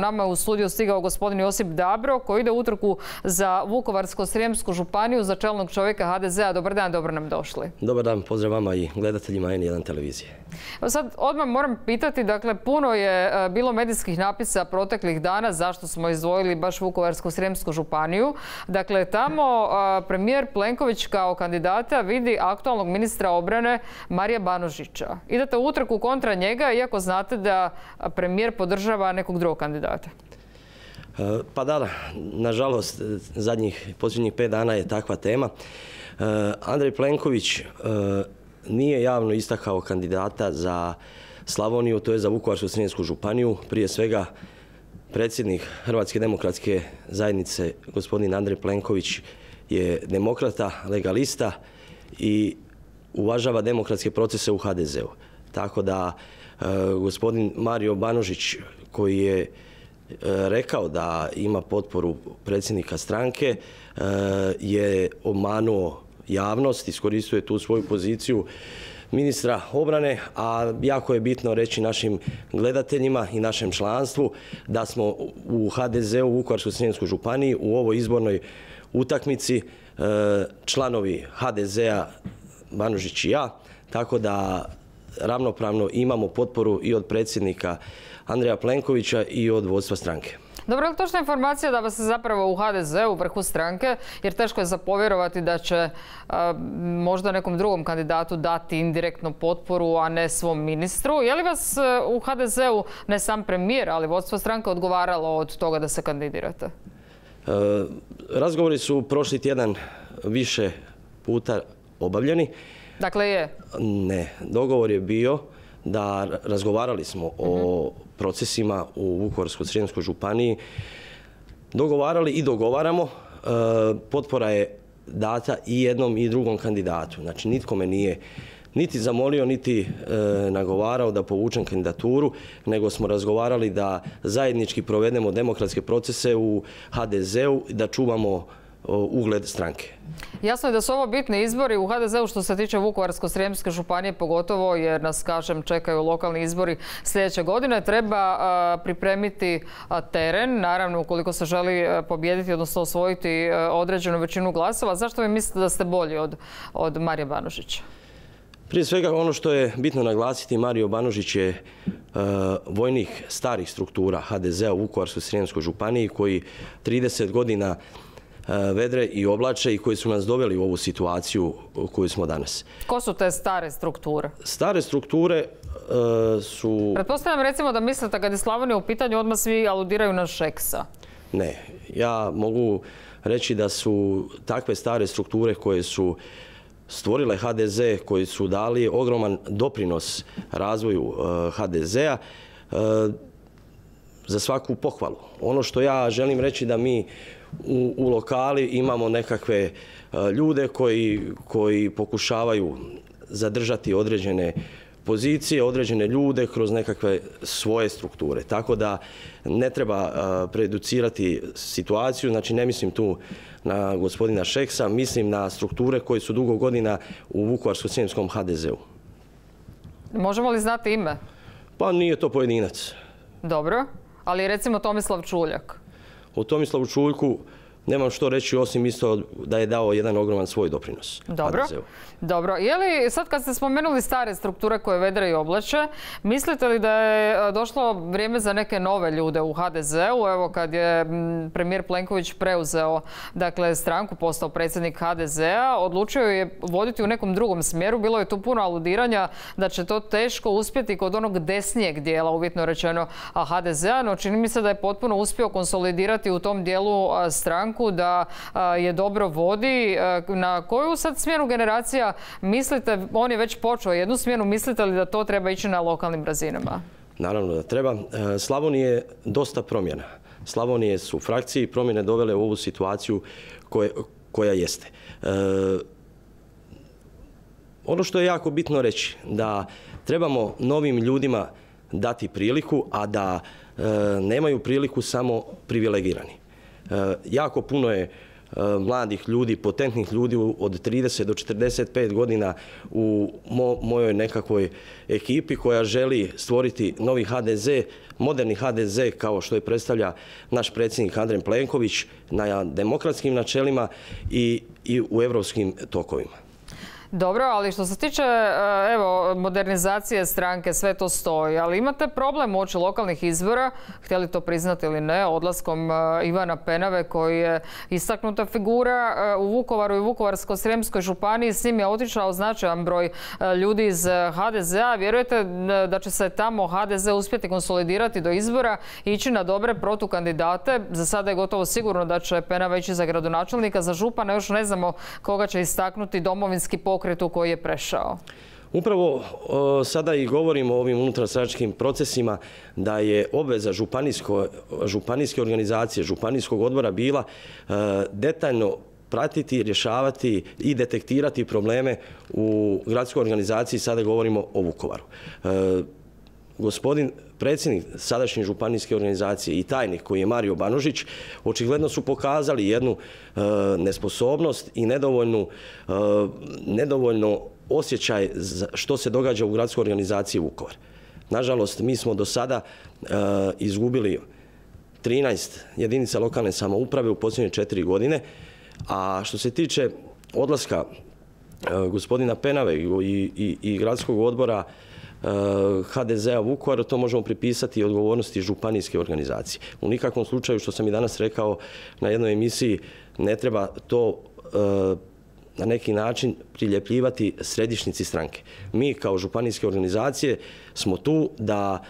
Nama je u studiju stigao gospodin Josip Dabro koji ide u utrku za Vukovarsko-srijemsku županiju za čelnog čovjeka HDZ-a. Dobar dan, dobro nam došli. Dobar dan, pozdrav vama i gledateljima N1 televizije. Sad odmah moram pitati, dakle puno je bilo medijskih napisa proteklih dana zašto smo izdvojili baš Vukovarsko-srijemsku županiju. Dakle, tamo premijer Plenković kao kandidata vidi aktualnog ministra obrane Marija Banožića. Idete u utrku kontra njega iako znate da premijer podržava nekog drugog kandidata. Pa da, nažalost, posljednjih 5 dana je takva tema. Andrej Plenković nije javno istakao kandidata za Slavoniju, to je za Vukovarsko-srijemsku županiju. Prije svega, predsjednik Hrvatske demokratske zajednice, gospodin Andrej Plenković, je demokrata, legalista i uvažava demokratske procese u HDZ-u. Tako da gospodin Mario Banožić, koji je rekao da ima potporu predsjednika stranke, je obmanuo javnost, iskoristio je tu svoju poziciju ministra obrane, a jako je bitno reći našim gledateljima i našem članstvu da smo u HDZ-u u Vukovarsko-srijemskoj županiji u ovoj izbornoj utakmici članovi HDZ-a Banožić i ja, tako da ravnopravno imamo potporu i od predsjednika Andreja Plenkovića i od vodstva stranke. Dobro, je li točna informacija da vas je zapravo u HDZ-u, vrhu stranke, jer teško je zapovjerovati da će možda nekom drugom kandidatu dati indirektno potporu, a ne svom ministru. Je li vas u HDZ-u ne sam premijer, ali vodstvo stranke odgovaralo od toga da se kandidirate? Razgovori su prošli tjedan više puta obavljeni. Dakle je? Ne, dogovor je bio da razgovarali smo o procesima u Vukovarsko-srijemskoj županiji. Dogovarali i dogovaramo. Potpora je data i jednom i drugom kandidatu. Znači, nitko me nije niti zamolio, niti nagovarao da povučem kandidaturu, nego smo razgovarali da zajednički provedemo demokratske procese u HDZ-u i da čuvamo ugled stranke. Jasno je da su ovo bitni izbori u HDZ-u što se tiče Vukovarsko-srijemske županije, pogotovo jer nas, kažem, čekaju lokalni izbori sljedeće godine. Treba pripremiti teren, naravno ukoliko se želi pobijediti, odnosno osvojiti određenu većinu glasova. Zašto vi mislite da ste bolji od Marija Banožića? Prije svega, ono što je bitno naglasiti, Mario Banožić je vojnik starih struktura HDZ-a u Vukovarsko-srijemskoj županiji koji 30 godina vedre i oblače i koji su nas doveli u ovu situaciju u kojoj smo danas. Ko su te stare strukture? Stare strukture su... Pretpostavljam recimo da mislite kad je Slavonija u pitanju odmah svi aludiraju na Šeksa. Ne, ja mogu reći da su takve stare strukture koje su stvorile HDZ, koji su dali ogroman doprinos razvoju HDZ-a, za svaku pohvalu. Ono što ja želim reći da mi u lokali imamo nekakve ljude koji pokušavaju zadržati određene pozicije, određene ljude kroz nekakve svoje strukture. Tako da ne treba preducirati situaciju, znači ne mislim tu na gospodina Šeksa, mislim na strukture koje su dugo godina u Vukovarsko-srijemskom HDZ-u. Možemo li znati ime? Pa nije to pojedinac. Dobro, ali recimo Tomislav Čuljak. O Tomislavu Čuljku nemam što reći osim isto da je dao jedan ogroman svoj doprinos. Dobro. Je li sad kad ste spomenuli stare strukture koje vedre i oblače, mislite li da je došlo vrijeme za neke nove ljude u HDZ-u? Evo kad je premijer Plenković preuzeo stranku, postao predsjednik HDZ-a, odlučio je voditi u nekom drugom smjeru. Bilo je tu puno aludiranja da će to teško uspjeti kod onog desnijeg dijela, uvjetno rečeno, HDZ-a, no čini mi se da je potpuno uspio konsolidirati u tom dijelu stranku, da je dobro vodi. Na koju sad smjenu generacija mislite, on je već počeo jednu smjenu, mislite li da to treba ići na lokalnim razinama? Naravno da treba. Slavonije je dosta promjena. Slavonije su frakcije i promjene dovele u ovu situaciju koja jeste. Ono što je jako bitno reći, da trebamo novim ljudima dati priliku, a da nemaju priliku samo privilegirani. Jako puno je mladih ljudi, potentnih ljudi od 30 do 45 godina u mojoj nekakvoj ekipi koja želi stvoriti novi HDZ, moderni HDZ kao što je predstavlja naš predsjednik Andrej Plenković na demokratskim načelima i u europskim tokovima. Dobro, ali što se tiče modernizacije stranke, sve to stoji, ali imate problem uoči lokalnih izbora, htjeli to priznati ili ne, odlaskom Ivana Penave koji je istaknuta figura u Vukovaru i Vukovarsko-srijemskoj županiji. S njim je otišao značajan broj ljudi iz HDZ-a. Vjerujete da će se tamo HDZ uspjeti konsolidirati do izbora i ići na dobre protukandidate? Za sada je gotovo sigurno da će Penava ići za gradonačelnika, za župana još ne znamo koga će istaknuti Domovinski pokret u koji je prešao. Upravo sada i govorimo o ovim unutarstranačkim procesima da je obveza županijske organizacije, županijskog odbora bila detaljno pratiti, rješavati i detektirati probleme u gradskoj organizaciji. Sada govorimo o Vukovaru. Gospodin predsjednik sadašnje županijske organizacije i tajnik koji je Mario Banožić očigledno su pokazali jednu nesposobnost i nedovoljno osjećaj što se događa u gradskoj organizaciji Vukovar. Nažalost, mi smo do sada izgubili 13 jedinica lokalne samouprave u posljednje 4 godine, a što se tiče odlaska gospodina Penave i gradskog odbora HDZ-a Vukovar, to možemo pripisati odgovornosti županijske organizacije. U nikakvom slučaju, što sam i danas rekao na jednoj emisiji, ne treba to na neki način priljepljivati središnjici stranke. Mi kao županijske organizacije smo tu da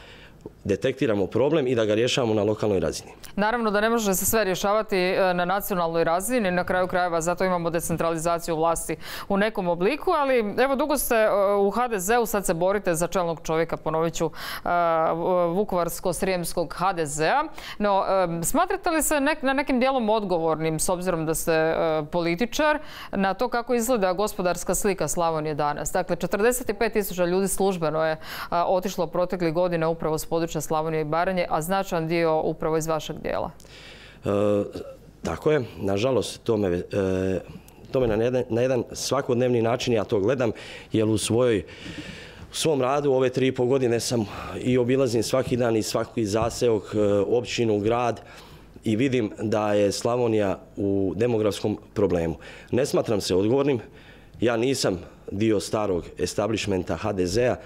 detektiramo problem i da ga rješavamo na lokalnoj razini. Naravno da ne može se sve rješavati na nacionalnoj razini, na kraju krajeva zato imamo decentralizaciju vlasti u nekom obliku, ali evo dugo ste u HDZ-u, sad se borite za čelnog čovjeka, ponovit ću, Vukovarsko-srijemskog HDZ-a. No, smatrate li se na nekim dijelom odgovornim, s obzirom da ste političar, na to kako izgleda gospodarska slika Slavonije danas? Dakle, 45.000 ljudi službeno je otišlo proteklih godina upravo s područja Slavonije i Baranje, a značajan dio upravo iz vašeg dijela. Tako je. Nažalost, to me na jedan svakodnevni način ja to gledam, jer u svom radu ove 3,5 godine sam i obilazim svaki dan i svaki zaseok, općinu, grad i vidim da je Slavonija u demografskom problemu. Ne smatram se odgovornim. Ja nisam dio starog establishmenta HDZ-a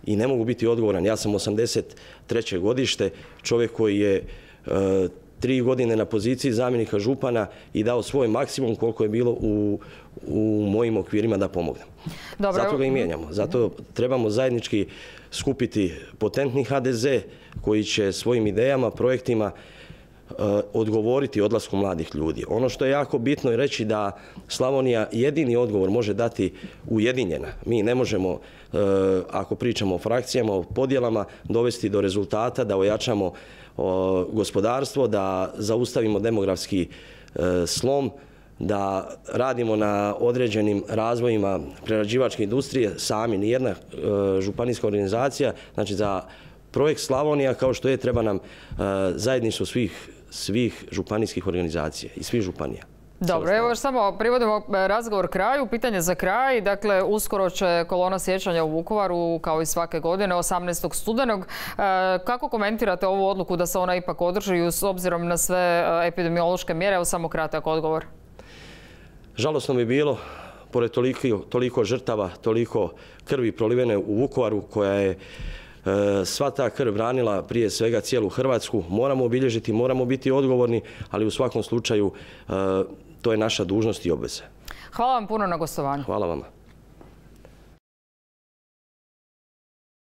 i ne mogu biti odgovoran. Ja sam 83. godište, čovjek koji je 3 godine na poziciji zamjenika župana i dao svoj maksimum koliko je bilo u mojim okvirima da pomognem. Zato ga i mijenjamo. Zato trebamo zajednički skupiti potentni HDZ koji će svojim idejama, projektima odgovoriti odlasku mladih ljudi. Ono što je jako bitno je reći da Slavonija jedini odgovor može dati ujedinjena. Mi ne možemo, ako pričamo o frakcijama, o podjelama, dovesti do rezultata, da ojačamo gospodarstvo, da zaustavimo demografski slom, da radimo na određenim razvojima prerađivačke industrije sami. Nijedna županijska organizacija, znači za projekt Slavonija kao što je, treba nam zajedništvo svih županijskih organizacija i svih županija. Dobro, evo još samo privodimo razgovor kraju. Pitanje za kraj. Dakle, uskoro će kolona sjećanja u Vukovaru, kao i svake godine, 18. studenog. Kako komentirate ovu odluku da se ona ipak održi s obzirom na sve epidemiološke mjere? Evo samo kratak odgovor. Žalosno bi bilo, pored toliko žrtava, toliko krvi prolivene u Vukovaru, koja je sva ta krv branila prije svega cijelu Hrvatsku. Moramo obilježiti, moramo biti odgovorni, ali u svakom slučaju to je naša dužnost i obveza. Hvala vam puno na gostovanju. Hvala vama.